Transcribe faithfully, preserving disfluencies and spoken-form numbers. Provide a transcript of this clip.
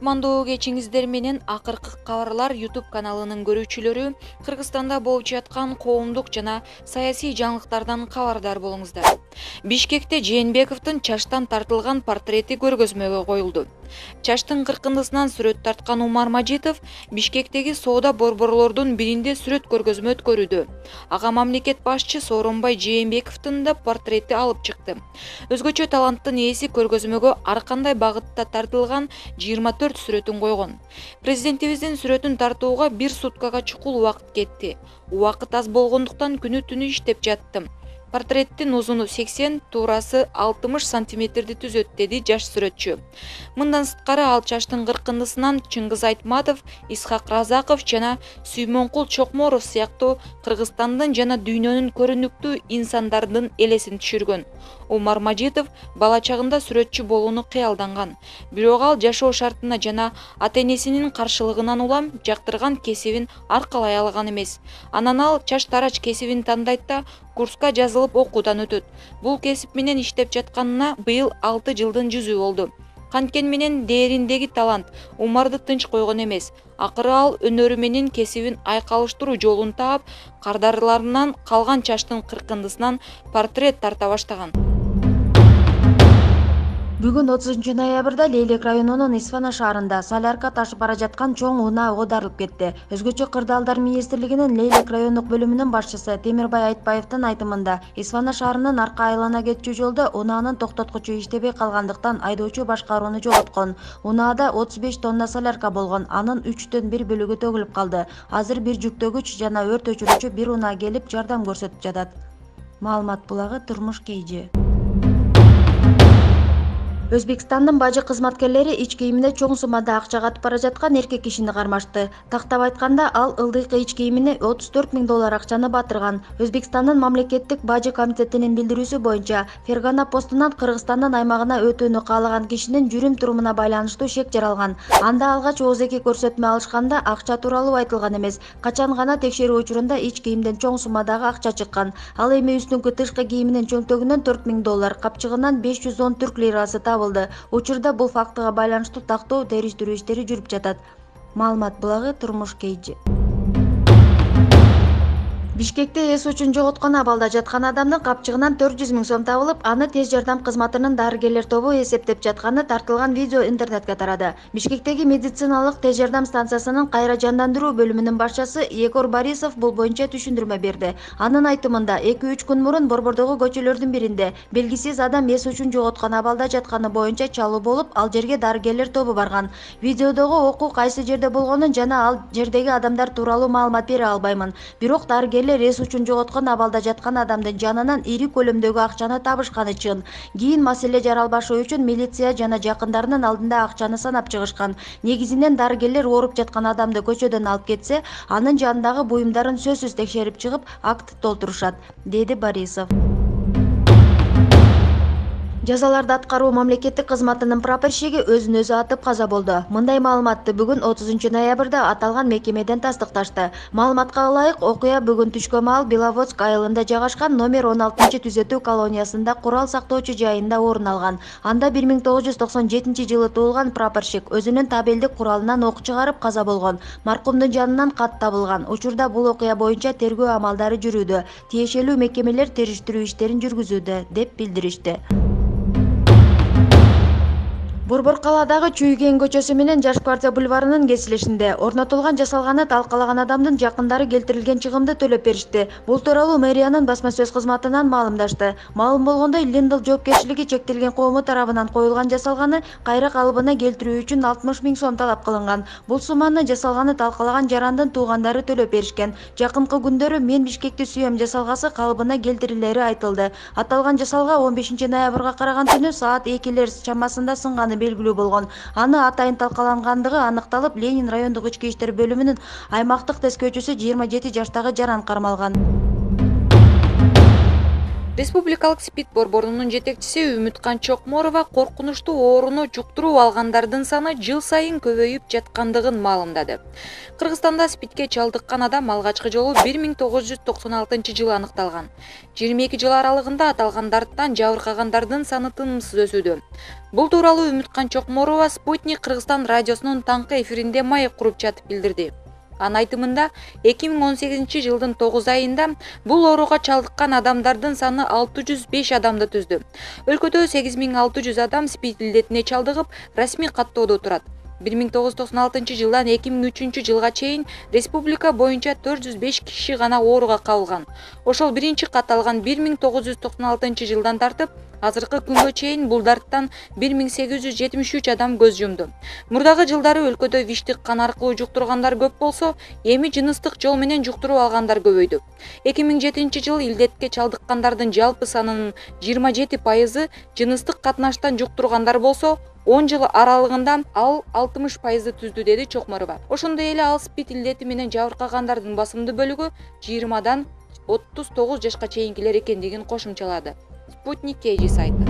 Кутмандуу кечиңиздер менен акыркы кабарлар YouTube каналынын көрүүчүлөрү Кыргызстанда болуп жаткан коомдук жана саясий жаңылыктардан кабардар болуңуздар. Бишкекте Жээнбековдун чачтан тартылган портрети көргөзмөгө коюлду. Чачтын кыркындысынан сүрөт тарткан Умар Мажитов Бишкектеги соода борборлордун биринде сүрөт көргөзмө өткөрүүдө. Ага мамлекет башчы Сооронбай Жээнбековдун да портрети алып чыкты. Өзгөчө таланттын ээси көргөзмөгө ар кандай багытта тартылган жыйырма төрт сүрөтүн койгон. Президентибиздин сүрөтүн тартууга бир суткага чукул убакыт кетти. Убакыт аз болгондуктан күнү түнү иштеп жаттым. Портреттин узуну сексен, туурасы алтымыш сантиметрди түзөт, деди жаш сүрөтчү. Мындан сырткары ал чачтын кыркындысынан Чыңгыз Айтматов, Исхак Разаков жана Сүймөнкул Чокморов сыяктуу Кыргызстандын жана дүйнөнүн көрүнүктүү инсандардын элесин түшүргөн. Умар Мажитов бала чагында сүрөтчү болууну кыялданган. Бирок ал жашоо шартына жана ата-энесинин каршылыгынан улам жактырган кесибин аркалай алган эмес. Анан ал чач тарач кесибин тандайт да курска жазылып окуудан өтөт. Бул кесип менен иштеп жатканына быйыл алты жылдын жүзү болду. Канткен менен дээриндеги талант Умарды тынч койгон эмес. Акыры ал өнөрү менен кесибин айкалыштыруу жолун таап, кардарларынан калган чачтын кыркындысынан портрет тарта баштаган. Бүгүн отузунчу ноябрда Лейлек районунун Исфана шаарында солярка ташып бара жаткан чоң унаа оодарылып кетти. Өзгөчө Кырдаалдар министрлигинин Лейлек райондук бөлүмүнүн башчысы Темирбай Айтбаевдин айтымында, Исфана шаарынын арка айлана кетчү жолдо унаанын токтоткучу иштебей калгандыктан айдоочу башкарууну жоготкон. Унаада отуз беш тонна солярка болгон, анын үчтөн бир бөлүгү төгүлүп калды. Азыр бир жүктөгүч жана өрт өчүрүүчү бир унаа келип жардам көрсөтүп жатат. Маалымат булагы Турмуш Кейжи. Өзбекстандын бажы кызматкерлери ич кийимине чоң суммада акча катып бара жаткан эркек кишини кармашты. Тактап айтканда, ал ылдыйкы ич кийимине отуз төрт миң доллар акчаны батырган. Өзбекстандын мамлекеттик бажы комитетинин билдирүүсү боюнча, Фергана постунан Кыргызстандын аймагына өтүүнү каалаган кишинин жүрүм-турумуна байланыштуу шек жаралган. Анда алгач оозеки көрсөтмө алышканда акча тууралуу айтылган эмес. Качан гана текшерүү учурунда ич кийимден чоң суммадагы акча чыккан. Ал эми үстүңкү тышкы кийиминин чөмтөгүнөн төрт миң доллар, капчыгынан беш жүз он түрк лирасы табылды. Учурда бул фактыга байланыштуу тактоо териштирүү иштери жүрүп жатат. Маалымат булагы Турмуш Кейжи. Бишкекте эс учун жоготкон абалда жаткан адамдын капчыгынан төрт жүз миң сом табылып, аны тез жардам кызматынын дарыгерлер тобу эсептеп жатканы тартылган видео интернетке тарады. Бишкектеги медициналык тез жардам станциясынын кайра жандандыруу бөлүмүнүн башчысы Егор Борисов бул боюнча түшүндүрмө берди. Анын айтымында, эки үч күн мурун борбордогу көчөлөрдүн биринде белгисиз адам эс учун жоготкон абалда жатканы боюнча чалуу болуп, ал жерге дарыгерлер тобу барган. Видеодогу окуу кайсы жерде болгонун жана ал жердеги адамдар тууралуу маалымат бере албаймын. Бирок дарыгерлер эс учун жоготкон абалда жаткан адамдын жанынан ири көлөмдөгү акчаны табышканы чын. Кийин маселе жаралбашы үчүн милиция жана жакындарынын алдында акчаны санап чыгышкан. Негизинен дарыгерлер ооруп жаткан адамды көчөдөн алып кетсе, анын жанындагы буюмдарын сөзсүз текшерип чыгып, акт толтурушат, деди Борисов. Жазаларды аткаруу мамлекеттик кызматынын прапорщиги өзүн өзү атып каза болду. Мындай маалыматты бүгүн отузунчу ноябрда аталган мекемеден тастыкташты. Маалыматка ылайык, окуя бүгүн түшкө маал Беловодск айылында жайгашкан номер он алтынчы түзөтүү колониясында курал сактоочу жайында орун алган. Анда бир миң тогуз жүз токсон жетинчи жылы туулган прапорщик өзүнүн табелдик куралынан ок чыгарып каза болгон. Маркумдун жанынан кат табылган. Учурда бул окуя боюнча тергөө амалдары жүрүүдө. Тиешелүү мекемелер териштирүү иштерин жүргүзүүдө, деп билдиришти. Борбор калаадагы Чүйген көчөсү менен Жаш партия бульварынын кесилишинде орнотулган жасалганы талкалаган адамдын жакындары келтирилген чыгымды төлөп беришти. Бул тууралуу мэриянын басма сөз кызматынан маалымдашты. Маалым болгондой, Линдл жоопкерчилиги чектелген коому тарабынан коюлган жасалганы кайра калыбына келтирүү үчүн алтымыш миң сом талап кылынган. Бул сумманы жасалганы талкалаган жарандын туугандары төлөп беришкен. Жакынкы күндөрү "Мен Бишкекти сүйөм" жасалгасы калыбына келтирилери айтылды. Аталган жасалга он бешинчи ноябрга караган түнү саат экилер чамасында сынганы белгилүү болгон. Аны атайын талкалангандыгы аныкталып, Ленин райондук ички иштер бөлүмүнүн аймактык тескөөчүсү жыйырма жети жаштагы жаран кармалган. Республикалык СПИД борборунун жетекчиси Үмүткан Чокморова коркунучтуу ооруну жуктуруп алгандардын саны жыл сайын көбөйүп жаткандыгын маалымдады. Кыргызстанда СПИДке чалдыккан адам алгачкы жолу бир миң тогуз жүз токсон алтынчы жылы аныкталган. жыйырма эки жыл аралыгында аталгандардан жабыркагандардын саны тынымсыз өсүүдө. Бул тууралуу Үмүткан Чокморова Спутник Кыргызстан радиосунун таңкы эфиринде маек куруп жатып билдирди. Анын айтымында эки миң он сегизинчи жылдын тогуз айында бул ооруга чалдыккан адамдардын саны алты жүз беш адамды түздү. Өлкөдө сегиз миң алты жүз адам СПИД илдетине чалдыгып, расмий каттоодо турат. бир миң тогуз жүз токсон алтынчы жылдан эки миң үчүнчү жылга чейин республика боюнча төрт жүз беш киши гана ооруга кабылган. Ошол биринчи катталган бир миң тогуз жүз токсон алтынчы жылдан тартып, азыркы күнгө чейин бул дарттан бир миң сегиз жүз жетимиш үч адам көз жумду. Мурдагы жылдары өлкөдө виштик кан аркылуу жуктургандар көп болсо, эми жыныстык жол менен жуктуруп алгандар көбөйдү. эки миң жетинчи жылы илдетке чалдыккандардын жалпы санынын жыйырма жети пайызы жыныстык катнаштан жуктургандар болсо, он жыл аралыгында ал алтымыш пайызды түздү, деди Чокморова. Ошондой эле ал СПИД илдети менен жабыркагандардын басымдуу бөлүгү жыйырмадан отуз тогуз жашка чейинкилер экендигин кошумчалады. Спутник Кей сайты.